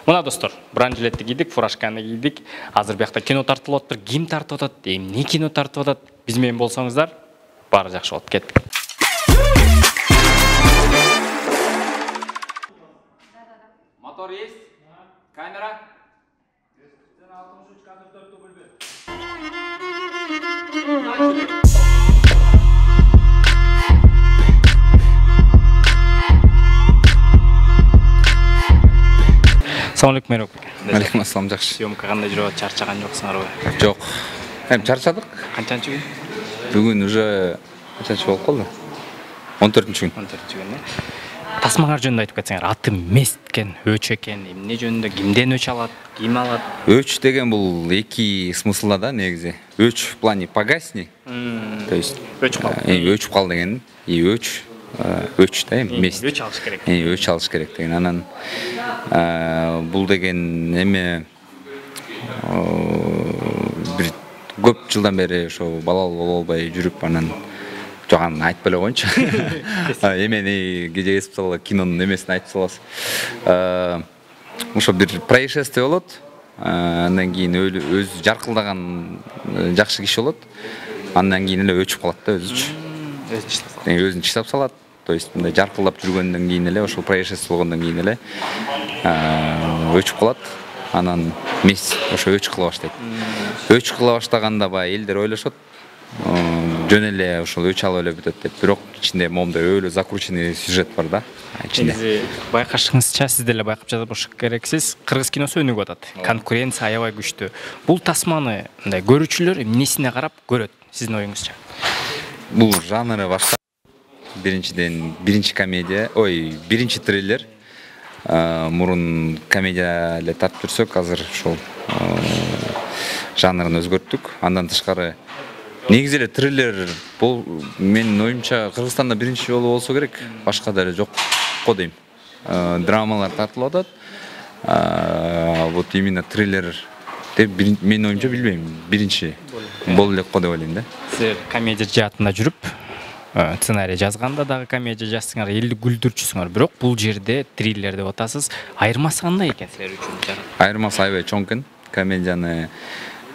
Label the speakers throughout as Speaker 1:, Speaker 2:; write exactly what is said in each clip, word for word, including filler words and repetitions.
Speaker 1: Мына достор, бранжилетти кийдик, фуражканы кийдик. Азыр биякта кино тартылып атат. Ким тартып атат? Эмне кино тартып атат? Биз менен болсоңуздар, баары жакшы болот. Кеттик. Мотор есть? Камера? Assalamu alaikum Merok.
Speaker 2: Алейкум ассалам, жакшы.
Speaker 1: Съемка кандай жүрүп атат? Чарчаган жоксуңарбы?
Speaker 2: Жок. Эми чарчадык.
Speaker 1: Канчанчы күн?
Speaker 2: Бүгүн уже канчанчы болуп калды? он төртүнчү күн.
Speaker 1: он төртүнчү күн, э? Тасмаңар жөнүндө айтып кетсеңер, аты Мест экен, Өч экен, эмне жөнүндө, кимден өч алат, ким алат?
Speaker 2: Өч деген бул эки смыслда да негизи. Өч в плане погасни. То есть
Speaker 1: өчүп кал.
Speaker 2: Э, өчүп кал деген, и өч өч да, Мест.
Speaker 1: Өч алыш керек.
Speaker 2: Э, өч алыш керек деген. Анан бул деген эме бир көп жылдан бери ошо балалуу боло албай жүрүп, анан жок, аны айтпай эле коеюнчу. Эмени кеже эсип салгыла, кинонун эмесин айтып салабыз. Ошо бир происшествие болот. Андан кийин өз жаркылдаган жакшы киши болот. Андан кийин эле өчүп калат да өзүчү. Өзүн чыштап салат. То есть мындай жаркылдап жүргөндөн кийин эле, ошол происшествие болгондон кийин эле өчүп калат. Анан Мест ошо өч кыла баштайт. Өч кыла баштаганда баягы элдер ойлошот, жөн эле ошол өч алып эле бүтөт деп. Бирок ичинде момундай өөлө закрученный сюжет бар да.
Speaker 1: Негизи байкашыңызча, сиз деле байкап жатып болуш керексиз. Кыргыз киносу өнүгүп атат. Конкуренция аябай күчтүү. Бул тасманы мындай көрүүчүлөр эмнесине карап көрөт, сиздин оюңузча?
Speaker 2: Бул жанры башка. Биринчиден биринчи комедия, ой, биринчи триллер. Мурун комедия эле тартып жүрсөк, азыр ошол жанрын өзгөрттүк. Андан тышкары негизи эле триллер бул менин оюмча Кыргызстанда биринчи жолу болсо керек, башка да эле жок го дейм. Драмалар тартылып атат. Вот именно триллер деп менин оюмча билбейм, биринчи боло элек го деп ойлойм да.
Speaker 1: Сиз комедия жаатында жүрүп, сценарий жазганда дагы комедия жазсаңар, элди күлдүрчүсүңөр, бирок бул жерде триллер деп атасыз. Айырмасы кандай экен силер үчүн?
Speaker 2: Айырмасы аябай чоң экен. Комедияны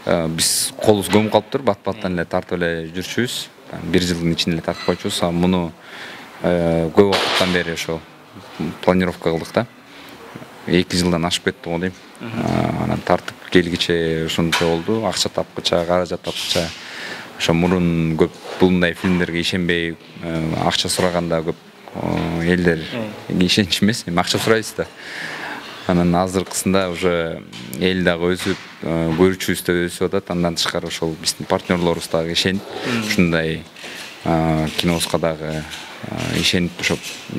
Speaker 2: биз колубуз көмүп калыптыр, бат-баттан эле тартып эле жүрчүбүз. Бир жылдын ичинде эле тартып койчубуз. Муну көп убакыттан бери ошо планировка кылдык да. эки жылдан ашып кетти го дейм. Анан тартып келгиче ушунча болду. Акча тапкыча, каражат тапкыча. Ошо мурун көп булундай фильмдерге ишенбей, акча сураганда көп элдер ишенч эмес, эми акча сурайсыз да. Анан азыркысында уже эл дагы өсүп, көрүүчүбүз да өсүп атат. Андан тышкары ошол биздин партнерлорубуз дагы ишенип, ушундай кинобузга дагы ишенип, ошо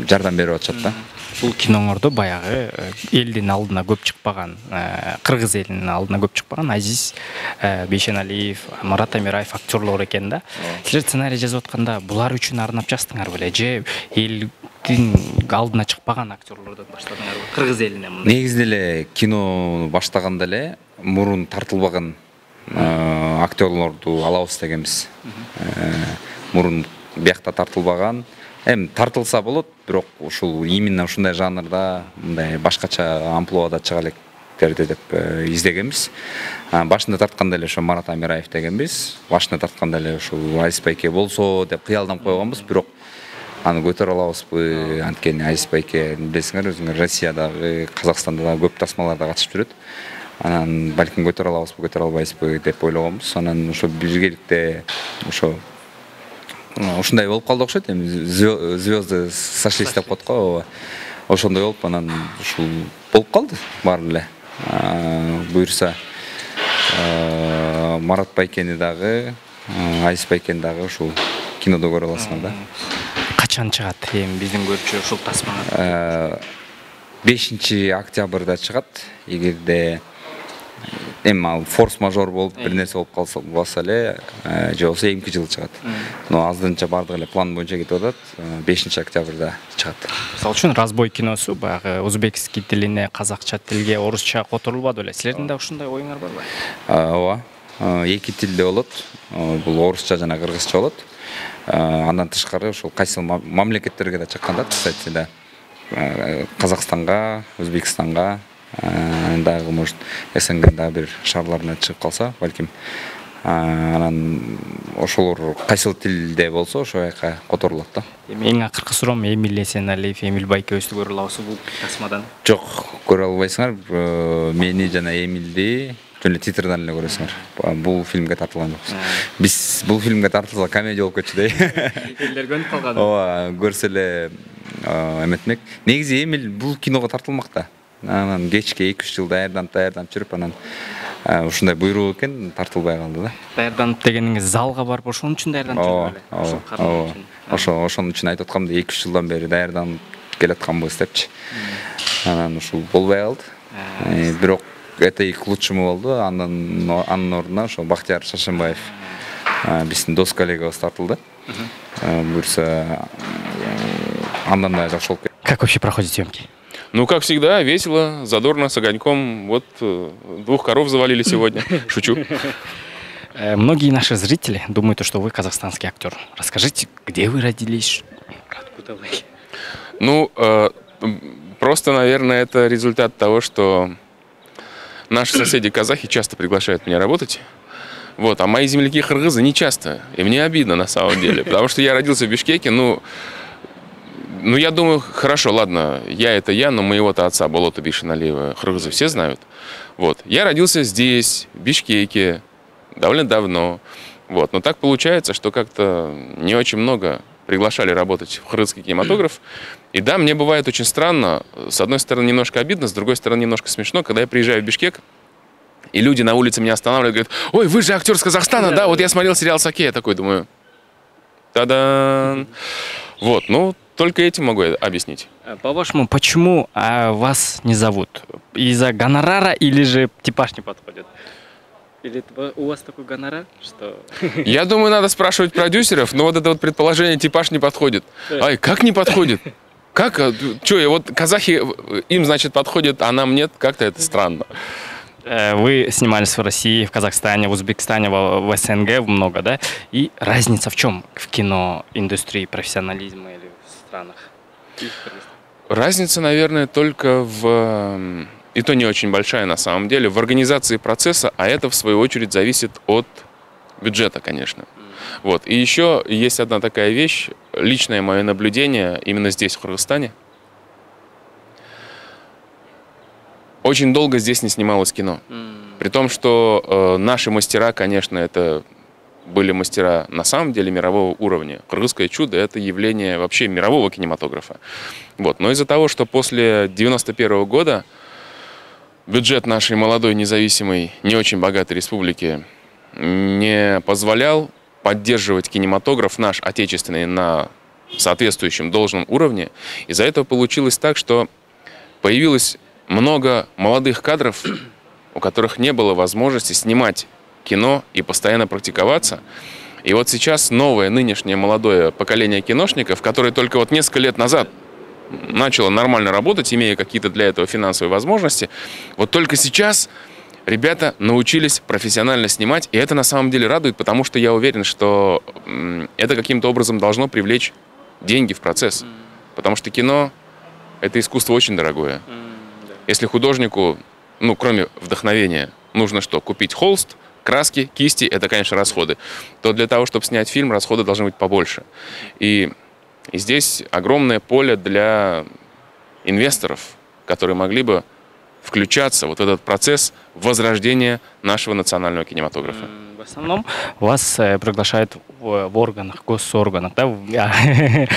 Speaker 2: жардам берип атышат да.
Speaker 1: Бул киноңордо баягы элдин алдына көп чыкпаган, кыргыз элинин алдына көп чыкпаган Азиз Бейшеналиев, Марат Амираев актерлор экен да. Силер сценарий жазып атканда булар үчүн арнап жаздыңар беле же элдин алдына чыкпаган актерлордон баштадыңарбы? Кыргыз элине мындай.
Speaker 2: Негизи эле кино баштаганда эле мурун тартылбаган актерлорду алабыз дегенбиз. Мурун биякта тартылбаган. Эми тартылса болот, бирок ушул именно ушундай жанрда, мындай башкача амплуада чыга электерди деп издегенбиз. Башында тартканда эле ошо Марат Амираев дегенбиз. Башында тартканда эле ушул Азиз байке болсо деп кыялданып койгонбуз, бирок аны көтөрө алабызбы? Анткени Азиз байке билесиңер, өзүңөр Россиядагы, Казакстанда да көп тасмаларда катышып жүрөт. Анан балким көтөрө алабызбы, көтөрө албайбызбы деп ойлогонбуз. Анан ошо биргеликте ошо ушундай болуп калды окшойт. Эми звезды сошлись деп коет го. Ошондой болуп, анан ушул болуп калды баары эле. Буюрса Марат байкени дагы, Азиз байкени дагы ушул кинодо көрө аласыңар да.
Speaker 1: Качан чыгат эми биздин көрүүчү ушул тасманы?
Speaker 2: бешинчи октябрда чыгат. Эгерде эми ал форс-мажор болуп бир нерсе болуп калса болсо эле, же болбосо эки жыл чыгат. Но аздынча бардыгы эле план боюнча кетип атат. бешинчи октябрда чыгат.
Speaker 1: Мисалы үчүн Разбой киносу баягы узбекский тилине, казакча тилге, орусча которулбады беле. Силердин да ушундай оюңар барбы?
Speaker 2: Ооба. Эки тилде болот. Бул орусча жана кыргызча болот. Андан тышкары ошол кайсы мамлекеттерге да чыккан да, кстати, да. Казакстанга, Өзбекстанга, дагы может СНГ дагы бир шаарларына чыгып калса балким, анан ошолор кайсыл тилде болсо ошол жака которулат да.
Speaker 1: Эми эң акыркы суроом, Эмиль Эсеналиев, Эмиль Байкебизди көрө алабызбы бул тасмадан?
Speaker 2: Жок, көрө албайсыңар. Мени жана Эмилди жөн эле титрден эле көрөсүңөр. Бул фильмге тартылган жокпуз. Биз бул фильмге тартылса комедия болуп кетчү dey.
Speaker 1: Элдер көнүп калган.
Speaker 2: Ооба, көрсө эле эметмек. Негизи Эмиль бул киного тартылмак да. Анан кечке эки үч жыл даярданып даярданып жүрүп анан ушундай буйрук экен, тартылбай калды да.
Speaker 1: Даярданып дегениңиз залга барып ошон үчүн даярданып жүрдү беле?
Speaker 2: Ошол кароо үчүн. Ошо ошон үчүн айтып аткам да, эки үч жылдан бери даярданып келатканбыз депчи. Анан ушул болбой калды. Бирок это и к лучшему болду. Андан анын ордуна ошо Бактияр Шашенбаев, биздин дос коллегабыз тартылды. Буюрса андан да жакшы болуп кетти.
Speaker 1: Как вообще проходят съемки?
Speaker 3: Ну, как всегда, весело, задорно, с огоньком. Вот двух коров завалили сегодня. Шучу.
Speaker 1: Многие наши зрители думают, что вы казахстанский актер. Расскажите, где вы родились? Откуда вы?
Speaker 3: Ну, э, просто, наверное, это результат того, что наши соседи казахи часто приглашают меня работать. Вот, а мои земляки кыргызы не часто. И мне обидно на самом деле. Потому что я родился в Бишкеке, ну... Ну, я думаю, хорошо, ладно, я это я, но моего-то отца, Болота Бишеналиева, кыргызы все знают. Вот. Я родился здесь, в Бишкеке, довольно давно. Вот. Но так получается, что как-то не очень много приглашали работать в кыргызский кинематограф. И да, мне бывает очень странно, с одной стороны немножко обидно, с другой стороны немножко смешно, когда я приезжаю в Бишкек, и люди на улице меня останавливают, говорят: ой, вы же актер с Казахстана, да, вот я смотрел сериал «Саке», я такой думаю, та-дан. Вот, ну... Только этим могу объяснить.
Speaker 1: По-вашему, почему а, вас не зовут? Из-за гонорара или же типаж не подходит? Или у вас такой гонорар, что...
Speaker 3: Я думаю, надо спрашивать продюсеров, но вот это вот предположение типаж не подходит. Ай, как не подходит? Как? Че, вот казахи, им, значит, подходит, а нам нет? Как-то это странно.
Speaker 1: Вы снимались в России, в Казахстане, в Узбекистане, в, в СНГ много, да? И разница в чем в киноиндустрии, профессионализма или в странах?
Speaker 3: Разница, наверное, только в... И то не очень большая на самом деле, в организации процесса, а это в свою очередь зависит от бюджета, конечно. Вот. И еще есть одна такая вещь, личное мое наблюдение именно здесь, в Кыргызстане. Очень долго здесь не снималось кино. При том, что э, наши мастера, конечно, это были мастера на самом деле мирового уровня. «Кыргызское чудо» — это явление вообще мирового кинематографа. Вот. Но из-за того, что после девяносто первого года бюджет нашей молодой, независимой, не очень богатой республики не позволял поддерживать кинематограф наш отечественный на соответствующем должном уровне, из-за этого получилось так, что появилось много молодых кадров, у которых не было возможности снимать кино и постоянно практиковаться. И вот сейчас новое, нынешнее молодое поколение киношников, которое только вот несколько лет назад начало нормально работать, имея какие-то для этого финансовые возможности, вот только сейчас ребята научились профессионально снимать, и это на самом деле радует, потому что я уверен, что это каким-то образом должно привлечь деньги в процесс. Потому что кино — это искусство очень дорогое. Если художнику, ну, кроме вдохновения, нужно что? Купить холст, краски, кисти, это, конечно, расходы, то для того, чтобы снять фильм, расходы должны быть побольше. И, и здесь огромное поле для инвесторов, которые могли бы включаться вот в этот процесс возрождения нашего национального кинематографа.
Speaker 1: В основном вас приглашают в, в органах, госорганах, да?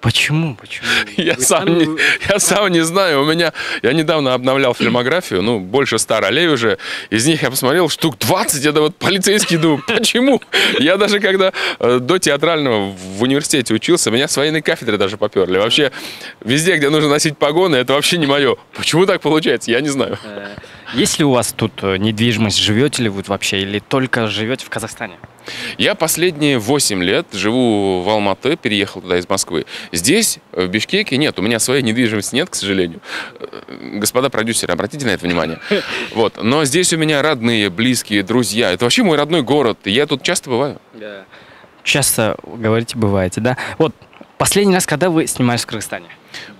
Speaker 1: Почему? Почему?
Speaker 3: Я сам, там... не, я сам не знаю. У меня, я недавно обновлял фильмографию, ну, больше ста ролей уже. Из них я посмотрел штук двадцать, это вот полицейский, думаю, почему? Я даже когда э, до театрального в университете учился, меня с военной кафедры даже поперли. Вообще, везде, где нужно носить погоны, это вообще не мое. Почему так получается, я не знаю.
Speaker 1: Есть ли у вас тут недвижимость? Живете ли вы вообще или только живете в Казахстане?
Speaker 3: Я последние восемь лет живу в Алматы, переехал туда из Москвы. Здесь, в Бишкеке, нет, у меня своей недвижимости нет, к сожалению. Господа продюсеры, обратите на это внимание. Вот. Но здесь у меня родные, близкие, друзья. Это вообще мой родной город, и я тут часто бываю.
Speaker 1: Часто, говорите, бываете, да? Вот Последний раз, когда вы снимались в Кыргызстане?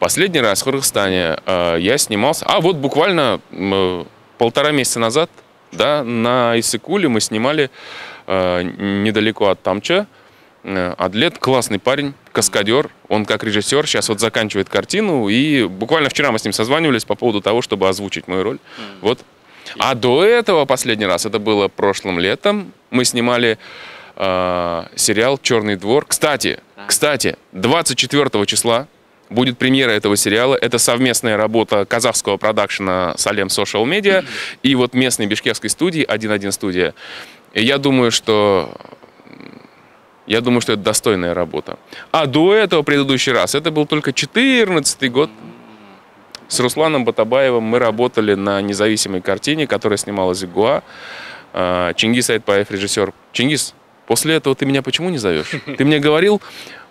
Speaker 3: Последний раз в Кыргызстане э, я снимался, а вот буквально э, полтора месяца назад, да, на Иссыкуле мы снимали э, недалеко от Тамча. Э, Адлет классный парень, каскадер, он как режиссер сейчас вот заканчивает картину, и буквально вчера мы с ним созванивались по поводу того, чтобы озвучить мою роль. Вот. А до этого последний раз, это было прошлым летом, мы снимали э, сериал «Черный двор». Кстати, кстати, двадцать четвёртого числа будет премьера этого сериала. Это совместная работа казахского продакшена Салем Social Media и вот местной бишкекской студии один один студия. И я думаю, что я думаю, что это достойная работа. А до этого предыдущий раз, это был только четырнадцатый год. С Русланом Батабаевым мы работали на независимой картине, которая снималась в Гуа. Чингис Айтбаев, режиссер. Чингис, после этого ты меня почему не зовешь? Ты мне говорил,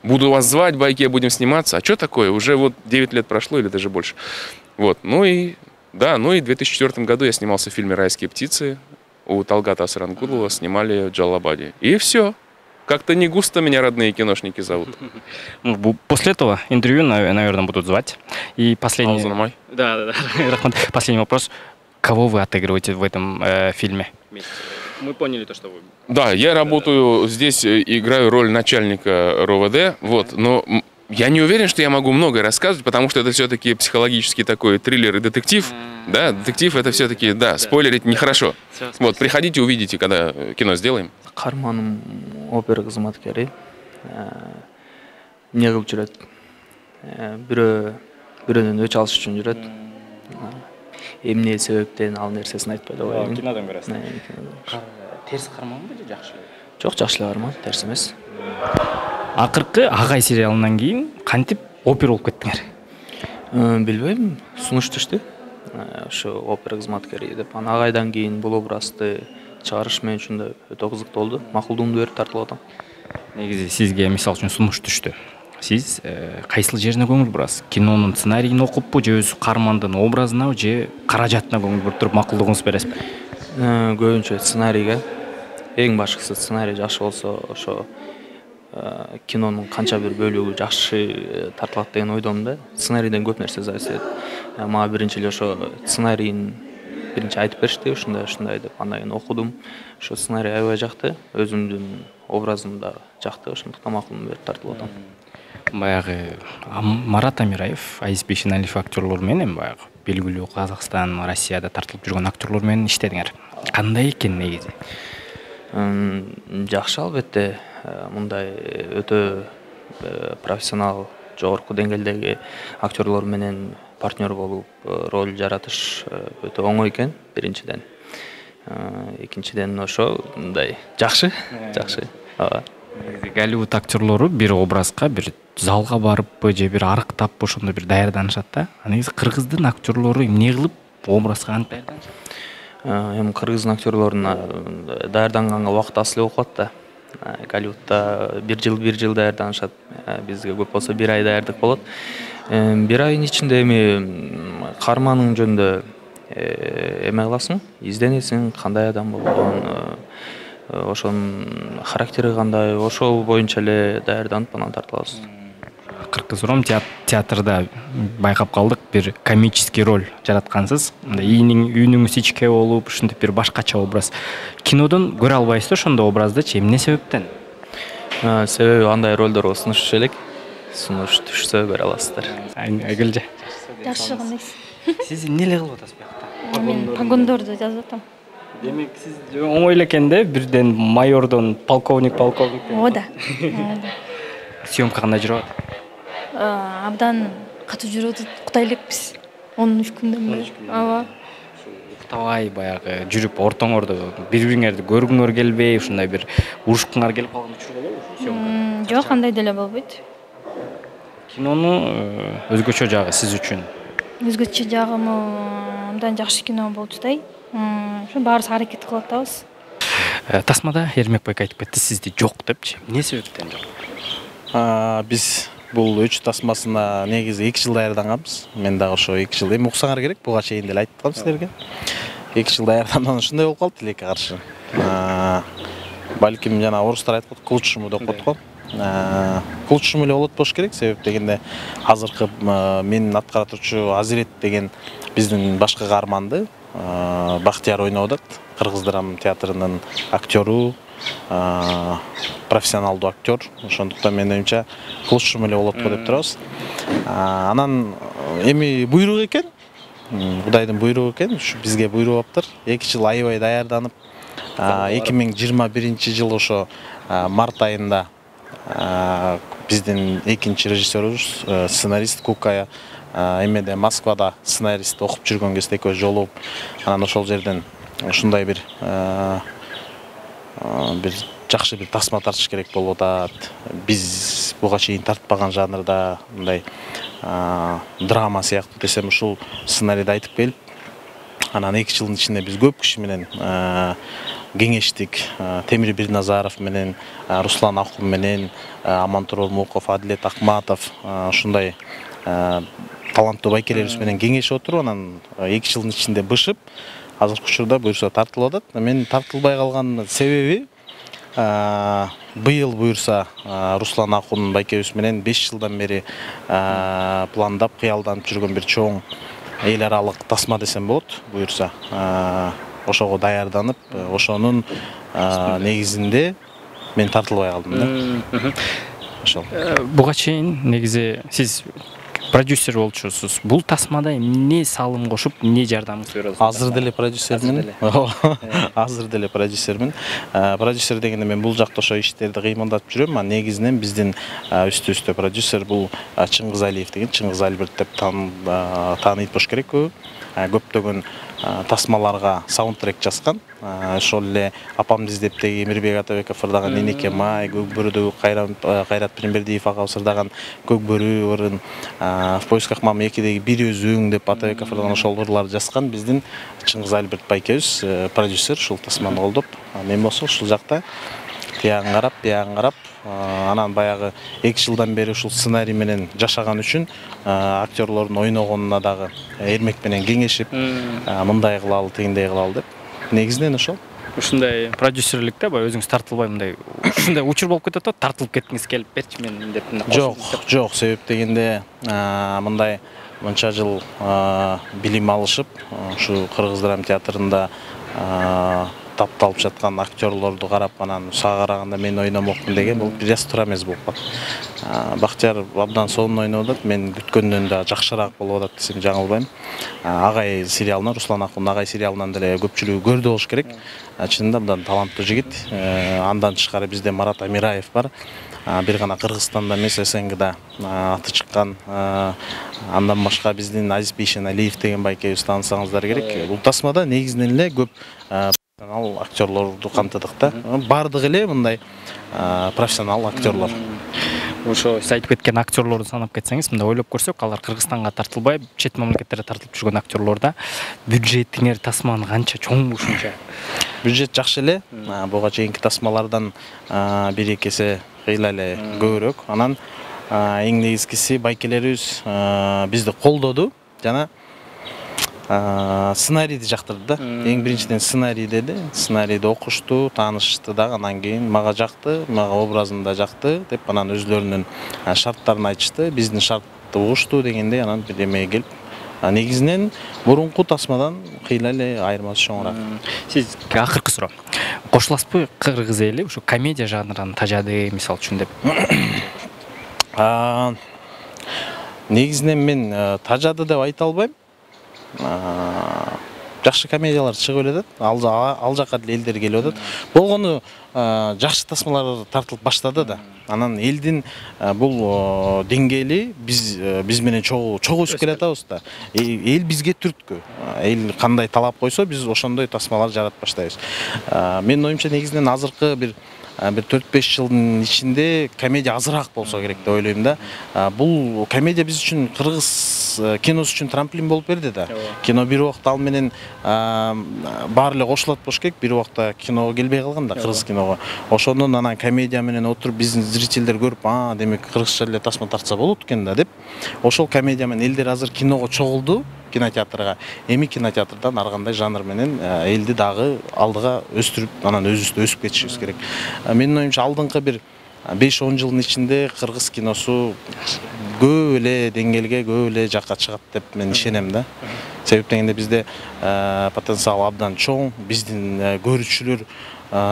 Speaker 3: буду вас звать, в Байке будем сниматься. А что такое? Уже вот девять лет прошло или даже больше. Вот, ну и, да, ну и в две тысячи четвёртом году я снимался в фильме «Райские птицы». У Талгата Асарангулова снимали в Джалабаде. И все. Как-то не густо меня родные киношники зовут.
Speaker 1: После этого интервью, наверное, будут звать. И последний...
Speaker 3: Да,
Speaker 1: да, да. Последний вопрос. Кого вы отыгрываете в этом э, фильме? Мы поняли то, что вы...
Speaker 3: Да, я работаю здесь, играю роль начальника РОВД, вот, но я не уверен, что я могу многое рассказывать, потому что это все-таки психологический такой триллер и детектив. Да, детектив это все-таки, да, спойлерить нехорошо. Вот, приходите, увидите, когда кино сделаем.
Speaker 4: Карманым опера кызматкери. Не кылып жүрөт. Бирөө бирөөнөн өч алыш үчүн жүрөт. Эмне себептен ал нерсесин айтпай койгон.
Speaker 1: Кинодон көрөсүз. Терс карманбы же жакшы?
Speaker 4: Жок, жакшы эле карман, терс эмес.
Speaker 1: Акыркы Агай сериалынан кийин кантип опера болуп кеттиңер?
Speaker 4: Билбейм, сунуш түштү. Ошо опера кызматкери деп, анан Агайдан кийин бул образды чыгарыш мен үчүн да өтө кызыктуу болду. Макулдугумду берип тартылып атам.
Speaker 1: Негизи сизге мисал үчүн сунуш түштү. Сиз кайсыл жерине көңүл бурасыз? Кинонун сценарийин окуппу же өз кармандын образына же каражатына көңүл буруп туруп макулдугуңуз бересизби?
Speaker 4: Көбүнчө сценарийге. Эң башкысы сценарий жакшы болсо, ошо кинонун канча бир бөлүгү жакшы тартылат деген ойдомун да. Сценарийден көп нерсе зависит этет. Мага биринчи эле ошо сценарийин биринчи айтып беришти, ушундай ушундай деп, андан кийин окудум. Ошо сценарий аябай жакты, өзүмдүн образым да жакты, ошондуктан макулдугумду берип тартылып атам.
Speaker 1: Баягы Марат Амираев, Азиз Бейшеналиев актерлор менен баягы белгилүү Казакстан, Россияда тартылып жүргөн актерлор менен иштедиңер. Кандай экен негизи?
Speaker 4: Жакшы албетте, мындай өтө профессионал, жогорку деңгээлдеги актерлор менен партнер болуп роль жаратыш өтө оңой экен, биринчиден. Экинчиден ошо мындай жакшы, жакшы. Ооба.
Speaker 1: Голливуд актерлору бир образга бир залга барыппы же бир арыктаппы ошондой бир даярданышат да. Негизи кыргыздын актерлору эмне кылып образга антип даярданышат?
Speaker 4: Эми кыргыздын актерлоруна даярданганга убакыт аз эле болуп калат да. Голливудда бир жыл бир жыл даярданышат. Бизге көп болсо бир ай даярдык болот. Бир айдын ичинде эми карманың жөнүндө эме кыласың, изденесиң, кандай адам болгон, ошонун характери кандай, ошол боюнча эле даярданып анан тартылабыз.
Speaker 1: Акыркы суроом, театрда байкап калдык, бир комический роль жараткансыз. Ийниң үйүнүңүз ичке болуп, ушинтип бир башкача образ. Кинодон көрө албайсыз ошондой образдычы, эмне себептен?
Speaker 4: Себеби андай ролдорго сунуш түшө элек. Сунуш түшсө көрө аласыздар.
Speaker 1: Айгүлжө.
Speaker 5: Жакшы кандайсыз?
Speaker 1: Сиз эмне эле кылып атасыз буякта?
Speaker 5: Мен погондорду жазып атам.
Speaker 1: Демек сиз оңой эле экен да, бирден майордон полковник, полковник.
Speaker 5: Оода.
Speaker 1: Съемка кандай жүрүп атат?
Speaker 5: Абдан катуу жүрүп атат. Кутай элекпиз. он үч күндөн бери. Ооба.
Speaker 1: Уктабай баягы жүрүп ортоңордо бири-бириңерди көргүңөр келбей, ушундай бир урушкуңар келип калган учур болобу съемкада?
Speaker 5: Жок, андай деле болбойт.
Speaker 1: Кинонун өзгөчө жагы сиз үчүн?
Speaker 5: Өзгөчө жагымы абдан жакшы кино болуп жатат. Ошо баарыбыз аракет кылып атабыз.
Speaker 1: Тасмада Эрмекбек айтып кетти, сизди жок депчи. Эмне себептен жок?
Speaker 6: Биз бул үч тасмасына негизи эки жыл даярданганбыз. Мен дагы ошо эки жыл эми уксаңар керек, буга чейин деле айттым силерге. эки жыл даярдангандан ушундай болуп калды тилекке каршы. Балким жана орустар айтып, к лучшему деп коет го. к лучшему эле болот болуш керек. Себеп дегенде азыркы менин аткара турчу Азирет деген биздин башкы каарманды Бактияр ойноп атат. Кыргыз драма театрынын актеру, профессионалдуу актер. Ошондуктан менин оюмча к лучшему эле болот го деп турабыз. Анан эми буйрук экен. Кудайдын буйругу экен. Ушу бизге буйруп аптыр. эки жыл аябай даярданып, эки миң жыйырма биринчи жылы ошо март айында биздин экинчи режиссерубуз, сценарист Кукая эмеде Москвада сценарист окуп жүргөн кезде экөөбүз жолугуп, анан ошол жерден ушундай бир бир жакшы бир тасма тартыш керек болуп атат. Биз буга чейин тартпаган жанрда мындай драма сыяктуу десем ушул сценарийди айтып келип, анан эки жылдын ичинде биз көп киши менен кеңештик. Темир Бирназаров менен, Руслан Акун менен, Амантурол Муков, Адилет Акматов ушундай таланттуу байкелерибиз менен кеңешип отуруп, анан эки жылдын ичинде бышып, азыркы учурда буюрса тартылып атат. Мен тартылбай калган себеби быйыл буюрса Руслан Акун байкебиз менен беш жылдан бери пландап, кыялданып жүргөн бир чоң эл аралык тасма десем болот. Буюрса ошого даярданып, ошонун негизинде мен тартылбай калдым да. Ошол.
Speaker 1: Буга чейин негизи сиз продюсер болчусуз. Бул тасмада эмне салым кошуп, эмне жардамыңыз берип атасыз?
Speaker 6: Азыр деле продюсермин. Азыр деле продюсермин. Продюсер дегенде мен бул жакта ошо иштерди кыймылдатып жүрөм. Негизинен биздин үстүбүздө продюсер бул Чыңгыз Алиев деген, Чыңгыз Альберт деп тааныйт болуш керек көбү. Көптөгөн тасмаларга саундтрек жазган. Ошол эле Апамды издептеги Эмирбек Атабеков ырдаган Энеке май, Көкбөрүдөгү Кайрат Пирмбердиев ага ырдаган Көкбөрү ырын, В поисках мамы экидеги Бир өзүң деп Атабеков ырдаган ошол ырларды жазган биздин Чыңгыз Альберт байкебиз, продюсер, ушул тасманы колдоп. Мен болсо ушул жакта тиягын карап, биягын карап, анан баягы эки жылдан бери ушул сценарий менен жашаган үчүн актерлордун ойногонуна дагы Эрмек менен кеңешип, мындай кылалы, тигиндей кылалы деп. Негизинен ошол.
Speaker 1: Ушундай продюсерликте баягы өзүңүз тартылбай мындай ушундай учур болуп кетет да, тартылып кеткиңиз келип берчи мен деп.
Speaker 6: Жок, жок, себеп дегенде мындай мынча жыл билим алышып, ушу Кыргыз драма театрында тапталып жаткан актерлорду карап, анан сага караганда мен ойномокмун деген бул бир аз туура эмес болуп калат. Бактияр абдан сонун ойноп атат, мен күткөндөн да жакшыраак болуп атат десем жаңылбайм. Агай сериалынан, Руслан Акун Агай сериалынан деле көпчүлүгү көрдү болуш керек. Чынында абдан таланттуу жигит. Андан тышкары бизде Марат Амираев бар. Бир гана Кыргызстанда эмес, СНГда аты чыккан. Андан башка биздин Азиз Бейшеналиев деген байкебиз таанысаңыздар керек. Бул тасмада негизинен эле көп профессионал актерлорду камтыдык да. Бардыгы эле мындай профессионал актерлор.
Speaker 1: Ошо сиз айтып кеткен актерлорду санап кетсеңиз, мындай ойлоп көрсөк, алар Кыргызстанга тартылбай, чет мамлекеттерге тартылып жүргөн актерлорда бюджетиңер тасманын канча чоң ушунча?
Speaker 6: Бюджет жакшы эле. Буга чейинки тасмалардан бир эки эсе кыйла эле көбүрөөк. Анан эң негизгиси байкелерибиз бизди колдоду жана сценарийди жактырды да. Эң биринчиден сценарий деди. Сценарийди окушту, таанышты дагы, анан кийин мага жакты, мага образым да жакты деп анан өзлөрүнүн шарттарын айтышты. Биздин шартты угушту дегенде анан бир эмеге келип, негизинен мурунку тасмадан кыйла эле айырмасы чоңураак.
Speaker 1: Сиз акыркы суроо. Кошуласызбы кыргыз эли ушу комедия жанрын тажады мисалы үчүн деп?
Speaker 6: Негизинен мен тажады деп айта албайм. Жакшы комедиялар чыгып эле атат. Ал жакка деле элдер келип атат. Болгону жакшы тасмалар тартылып баштады да. Анан элдин бул деңгээли биз биз менен чогуу чогуу өсүп келатабыз да. Эл бизге түрткү. Эл кандай талап койсо, биз ошондой тасмалар жаратып баштайбыз. Менин оюмча негизинен азыркы бир бир төрт беш жылдын ичинде комедия азыраак болсо керек деп ойлойм да. Бул комедия биз үчүн, кыргыз киносу үчүн трамплин болуп берди да. Кино бир убакта ал менен баары эле кошулат болуш керек. Бир убакта киного келбей калган да, кыргыз киного. Ошондон анан комедия менен отуруп биздин зрительдер көрүп, а, демек кыргызча эле тасма тартса болот экен да деп. Ошол комедия менен элдер азыр киного чогулду, кинотеатрга. Эми кинотеатрдан ар кандай жанр менен элди дагы алдыга өстүрүп, анан өзүбүздө өсүп кетишибиз керек. Менин оюмча алдыңкы бир беш он жылдын ичинде кыргыз киносу көп эле деңгээлге, көп эле жакка чыгат деп мен ишенем да. Себеп дегенде бизде потенциал абдан чоң, биздин көрүүчүлөр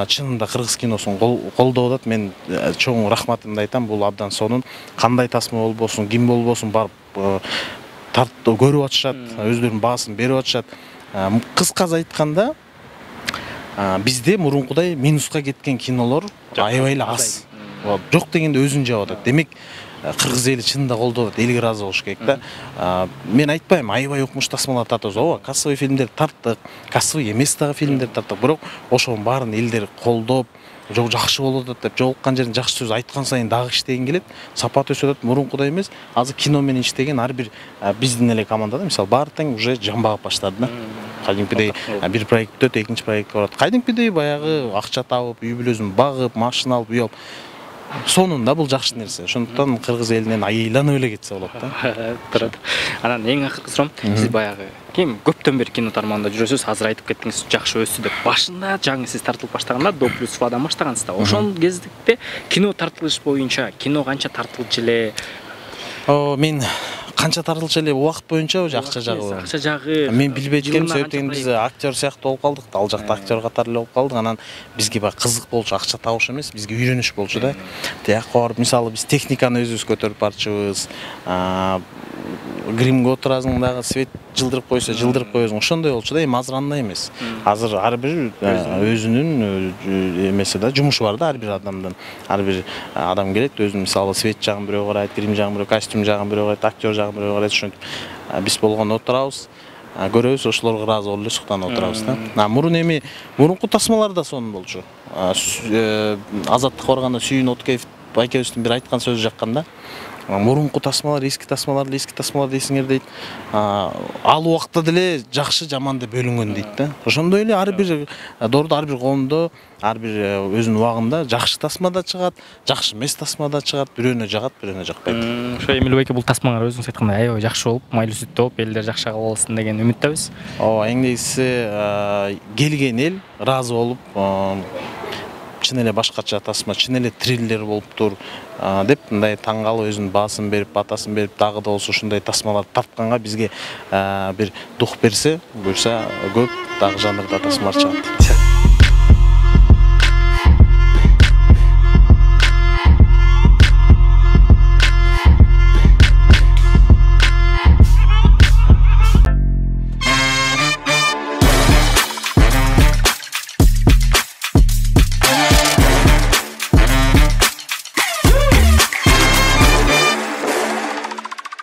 Speaker 6: чынында кыргыз киносун колдоп атат. Мен чоң рахматымды айтам. Бул абдан сонун. Кандай тасма болбосун, ким болбосун барып тартып көрүп атышат, өздөрүнүн баасын берип атышат. Кыскасы айтканда, бизде мурункудай минуска кеткен кинолор аябай эле аз. Жок дегенде өзүн жаап атат. Демек, кыргыз эли чынында колдоп атат, элге ыраазы болуш керек да. Мен айтпайм, аябай укмуш тасмалар тартабыз. Ооба, кассовый фильмдер тарттык, кассовый эмес дагы фильмдер тарттык. Бирок ошонун баарын элдер колдоп, жок жакшы болуп атат деп, жолуккан жерин жакшы сөз айткан сайын дагы иштеген келет. Сапат өсүп атат, мурункудай эмес. Азыр кино менен иштеген ар бир биздин эле командада, мисалы, баары тең уже жамбагып баштады да. Кадимкидей бир проект бүтөт, экинчи проектке барат. Кадимкидей баягы акча табып, үй бүлөсүн багып, машина алып, үй алып. Сонунда бул жакшы нерсе. Ошондуктан кыргыз элинен айланып эле кетсе болот да.
Speaker 1: Турат. Анан эң акыркы суроом, сиз баягы ким көптөн бери кино тармагында жүрөсүз, азыр айтып кеттиңиз, жакшы өссү деп. Башында жаңы сиз тартылып баштаганда до плюс фадан баштагансыз да. Ошол кездикте кино тартылыш боюнча, кино канча тартылчу эле?
Speaker 6: О, мен канча тартылчу эле убакыт боюнча акча жагы.
Speaker 1: Акча жагы.
Speaker 6: Мен билбейт экенмин, себептен биз актер сыяктуу болуп калдык, ал жакта актер катары эле болуп калдык. Анан бизге баягы кызык болчу, акча табыш эмес, бизге үйрөнүш болчу да. Тиякка барып, мисалы, биз техниканы өзүбүз көтөрүп барчыбыз. Гримге отурасың дагы, свет жылдырып койсо, жылдырып коесуң. Ошондой болчу да, эми азыр андай эмес. Азыр ар бир өзүнүн эмеси да, жумушу бар да ар бир адамдын. Ар бир адам келет, өзүнүн мисалы свет жагын бирөө карайт, грим жагын бирөө, костюм жагын бирөө карайт, актер жагын бирөө карайт. Ошентип биз болгондо отурабыз, көрөбүз, ошолорго ыраазы болуп эле суктанып отурабыз да. Мурун эми мурунку тасмалар да сонун болчу. Азаттыкка барганда Сүйүн Откеев байкебиздин бир айткан сөзү жаккан да. Мурунку тасмалар, эски тасмалар, эски тасмалар дейсиңер дейт. Ал убакта деле жакшы, жаман деп бөлүнгөн дейт да. Ошондой эле ар бир доордо, ар бир коомдо, ар бир өзүнүн убагында жакшы тасма да чыгат, жакшы эмес тасма да чыгат, бирөөнө жагат, бирөөнө жакпайт.
Speaker 1: Ошо Эмил байке бул тасмаңар өзүңүз айткандай аябай жакшы болуп, майлуу сүттүү болуп, элдер жакшы кабыл алсын деген үмүттөбүз.
Speaker 6: Ооба, эң негизгиси келген эл ыраазы болуп, чын эле башкача тасма, чын эле триллер болуптур деп мындай таң калып, өзүнүн баасын берип, батасын берип, дагы да болсо ушундай тасмалар тартканга бизге бир дух берсе, буюрса көп дагы жанрда тасмалар чыгат.